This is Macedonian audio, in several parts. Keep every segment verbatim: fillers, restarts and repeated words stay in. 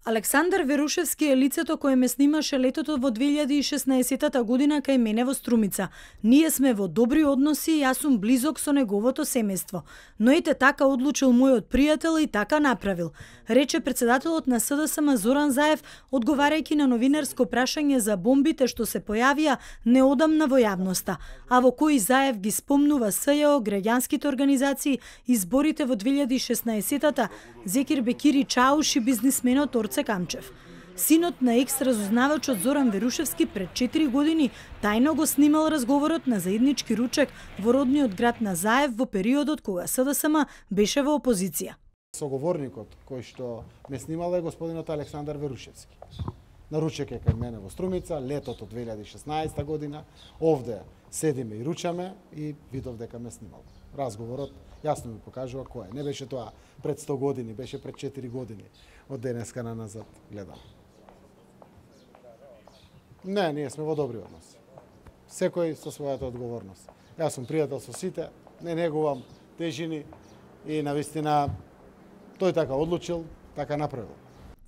Александар Верушевски е лицето кое ме снимаше летото во две илјади и шеснаесетта година кај мене во Струмица. Ние сме во добри односи и јас сум близок со неговото семејство. Но ете така одлучил мојот пријател и така направил, рече председателот на С Д С М Зоран Заев, одговарајќи на новинарско прашање за бомбите што се појавија неодамна во јавноста, а во кои Заев ги спомнува С Ј О, граѓанските организации, изборите во две илјади и шеснаесетта, Зекир Бекири Чауш и бизнисменот Орце Камчев. Синот на екс-разузнавачот Зоран Верушевски пред четири години тајно го снимал разговорот на заеднички ручек во родниот град на Заев во периодот кога С Д С М беше во опозиција. Соговорникот кој што ме снимал е господинот Александар Верушевски. На ручек е кај мене во Струмица, летото две илјади и шеснаесетта година, овде седиме и ручаме и видов дека ме снимал. Разговорот јасно ми покажува кој е. Не беше тоа пред сто години, беше пред четири години. Од денеска на назад гледам. Не, ние сме во добри односи. Секој со својата одговорност. Јас сум пријател со сите, не негувам тежини и навистина тој така одлучил, така направил.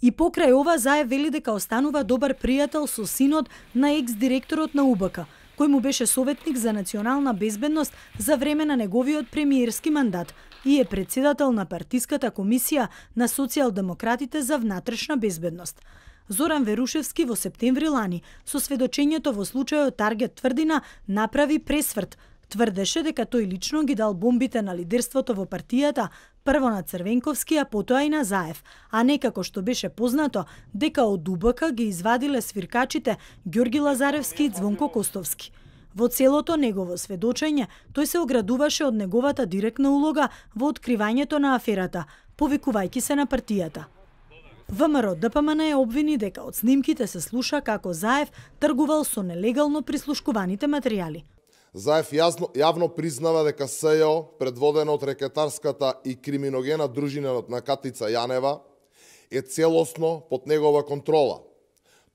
И покрај ова Заев вели дека останува добар пријател со синот на екс-директорот на У Б К, кој му беше советник за национална безбедност за време на неговиот премиерски мандат и е председател на партиската комисија на социјалдемократите за внатрешна безбедност. Зоран Верушевски во септември лани со сведочењето во случајот Таргет Тврдина направи пресврт. Тврдеше дека тој лично ги дал бомбите на лидерството во партијата, прво на Црвенковски, а потоа и на Заев, а не како што беше познато дека од У Б К ги извадиле свиркачите Ѓорги Лазаревски и Звонко Костовски. Во целото негово сведочење, тој се оградуваше од неговата директна улога во откривањето на аферата, повикувајќи се на партијата. В М Р Д П М Н ја обвини дека од снимките се слуша како Заев тргувал со нелегално прислушкуваните материјали. Заев јазно, јавно признава дека С Ј О, предводено од рекетарската и криминогена дружина на Катица Јанева, е целосно под негова контрола.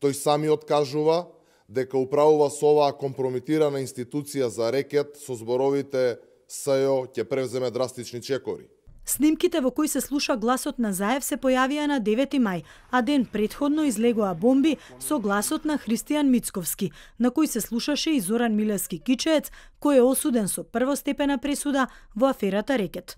Тој самиот кажува дека управува со оваа компрометирана институција за рекет со зборовите С Ј О ќе превземе драстични чекори. Снимките во кои се слуша гласот на Заев се појавија на девети мај, а ден претходно излегоа бомби со гласот на Христијан Мицковски, на кој се слушаше и Зоран Милевски Кичеец, кој е осуден со првостепена пресуда во аферата Рекет.